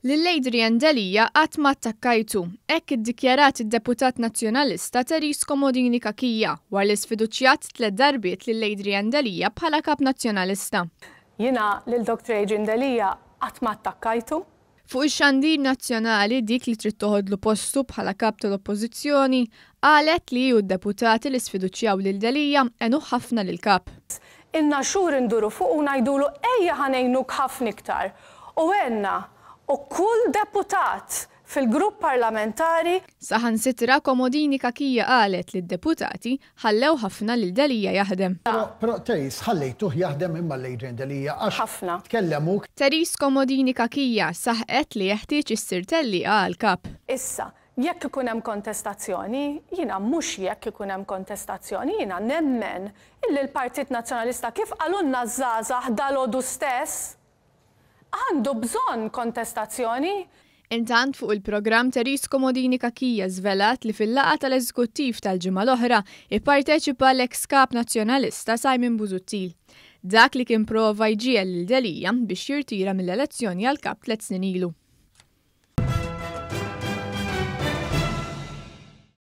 Lil Adrian Delia qatt ma attakkajtu, hekk iddikjarat id-deputat Nazzjonalista Therese Comodini Cachia wara li sfiduċjat tlett darbiet lil Adrian Delia bħala Kap Nazzjonalista. Jiena lil Dr Adrian Delia qatt ma attakkajtu. Fuq ix-xandir nazzjonali dik li trid toħodlu postu bħala Kap tal-Oppożizzjoni qalet li hi u d-deputati li sfiduċjaw lil Delia għenuh ħafna lill-Kap. Ilna xhur induru fuqu u ngħidulu ejja ħa ngħinuk ħafna iktar. U għenna u kull deputat fil-grupp parlamentari. Saħansitra Comodini Cachia qalet li d-deputati ħallew ħafna lil Delia jaħdem. Però Therese ħallejtuh jaħdem imma 'l Adrian Delia għax Ħafna. tkellem hu. Therese Comodini Cachia saħqet li jeħtieġ issir tellieqa għall-Kap. Issa, jekk ikun hemm kontestazzjoni, jiena mhux jekk ikun hemm kontestazzjoni, jiena nemmen illi l-Partit Nazzjonalista kif qalulna ż-żgħażagħ dalgħodu stess, Għandu bżonn kontestazzjoni. Intant fuq il-programm Therese Comodini Cachia żvelat li fil-laqgħa tal-Eżekuttiv tal-ġimgħa l-oħra ipparteċipa l-eks Kap Nazzjonalista Simon Busuttil. Dak li kien prova jġiegħel lil Delia biex jirtira mill-elezzjoni għal Kap tlett snin ilu.